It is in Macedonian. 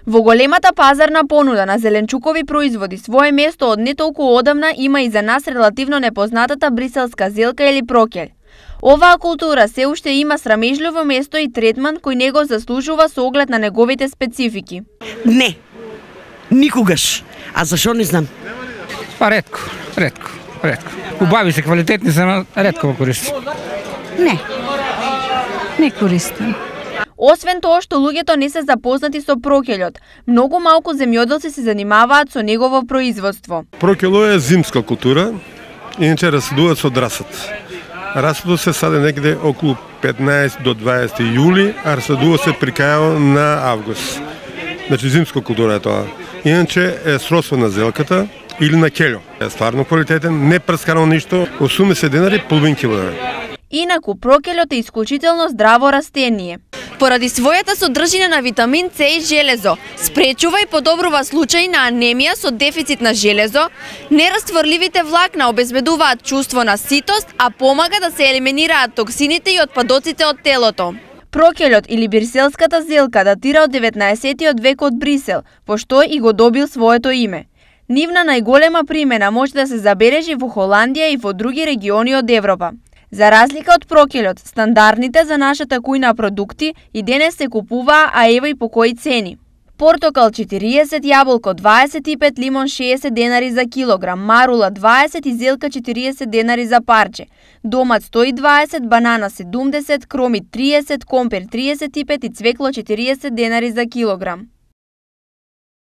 Во големата пазарна понуда на зеленчукови производи свое место од не толку одамна има и за нас релативно непознатата бриселска зелка или прокелј. Оваа култура се уште има срамежливо место и третман кој не го заслужува со оглед на неговите специфики. Не, никогаш. А зашо не знам? Па ретко. Убави се, квалитетни се, но ретко го користам. Не користам. Освен тоа што луѓето не се запознати со прокелјот, многу малку земјоделци се занимаваат со негово производство. Прокело е зимска култура, иначе расадуваат со драсат. Расадот се саде некаде околу 15 до 20 јули, а расадува се при крајот на август. Значи зимска култура е тоа. Иначе е сродство на зелката или на келјо. Е стварно квалитетен, не прскано ништо, 80 денари половин килограм. Инаку прокелјот е исклучително здраво растение. Поради својата содржина на витамин С и железо, спречува и подобрува случаи на анемија со дефицит на железо, нерастворливите влакна обезбедуваат чувство на ситост, а помага да се елиминираат токсините и отпадоците од телото. Прокелјот или бриселската зелка датира од 19 век од Брисел, пошто и го добил своето име. Нивна најголема примена може да се забележи во Холандија и во други региони од Европа. За разлика од прокелјот, стандардните за нашата кујна продукти и денес се купуваа, а ева и по кои цени. Портокал 40, јаболко 25, лимон 60 денари за килограм, марула 20 и зелка 40 денари за парче, домат 120, банана 70, кроми 30, компер 35 и цвекло 40 денари за килограм.